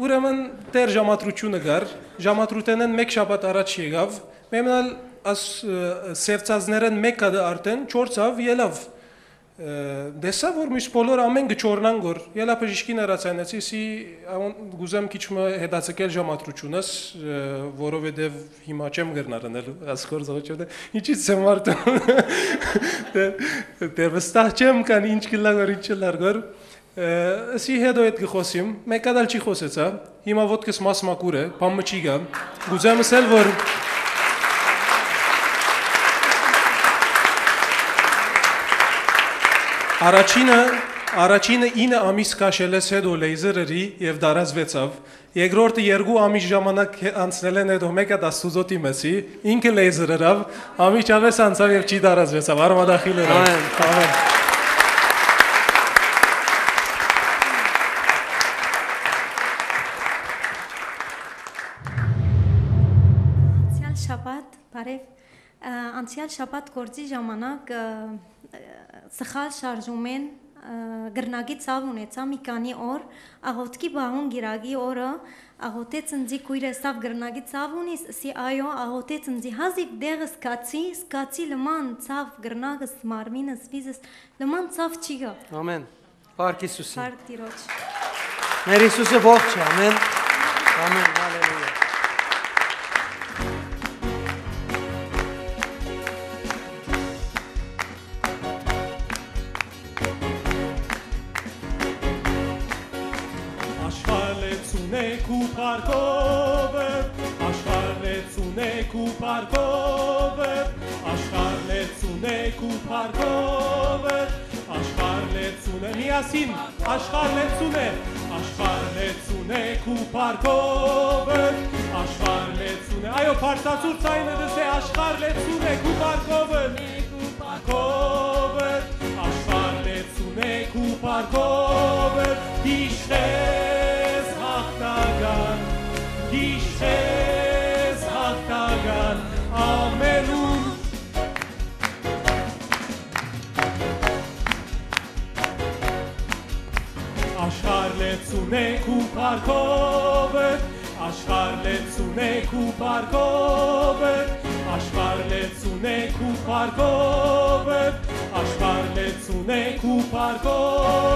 Ուրեմն դեռ ժամադրութիւնը կար, ժամադրութենէն մէկ շաբաթ առաջ եկաւ, մեմնալ աս, ը, սևցածներէն մէկ հատը արդեն չորցաւ, ելաւ։ Ը, տեսա, որ մյուս բոլոր ամեն կը չորնան գոր, ելա բժիշկին հեռացանեցի, սի, աուն, կ'ուզեմ քիչ մը հետաձգել ժամադրութիւնս, ը, որովհետեւ հիմա չեմ կրնար ընել աս գործողութիւնը, ինչի՞ց եմ մարդը, դե, դե վստահ չեմ, քան ինչ կ'ըլլայ գոր, ինչ չ'ըլլար գոր, Ը, ըսի հետո հետ կը խօսիմ, մէկ հատ ալ չի խօսեցայ, հիմա ոտքս մաս մակուր է, բան մը չի գայ, կ'ուզեմ ըսել, որ առաջինը, առաջինը ինը ամիս քաշելէս հետո լեյզեր ըրի եւ տարածուեցաւ, երկրորդը երկու ամիս ժամանակ հե-, անցնելէն հետո մէկ հատ Աստուծոյ դիմեցի, ինքը լեյզեր ըրաւ, անմիջապէս անցաւ եւ չի տարածուեցաւ, արմատախիլ ըրաւ։ Ամեն։ Ամեն։ Անցեալ շաբաթ, բարև, ը, անցեալ շաբաթ գործի ժամանակ, ը, ը, սխալ շարժումէն, ը, կռնակի ցաւ ունեցայ մի քանի օր, աղօթքի պահուն կիրակի օրը, աղօթեց ինձի քոյրս, «Սա կռնակի ցաւ ունի»։ Ըսի, «Այո», աղօթեց ինձի, հազիւ դեղս զգացի, զգացի լման ցաւ կռնակս, մարմինս, վիզս, լման ցաւ չի գայ։ Ամեն։ Փառք Յիսուսին։ Փառք Տիրոջ։ Մեր Յիսուսը ողջ է, ամեն։ Ամեն, հալելույա։ Աշխարհ լեցուն է քու փառքովը, աշխարհ լեցուն է քու փառքովը, աշխարհ լեցուն է քու փառքովը, աշխարհ լեցուն է, միասին, աշխարհ լեցուն է, աշխարհ լեցուն է քու փառքովը, աշխարհ լեցուն է, այո, բարձրացուր ձայնը, դսե, աշխարհ լեցուն է քու փառքովը, փառքովը, աշխարհ լեցուն է քու փառքովը, գիշեր հաղթական, գիշեր հաղթական, ամենում աշխարհ լեցուն է քու փառքովը, աշխարհ լեցուն է քու փառքովը, աշխարհ լեցուն է քու փառքովը, աշխարհ լեցուն է քու փառքովը,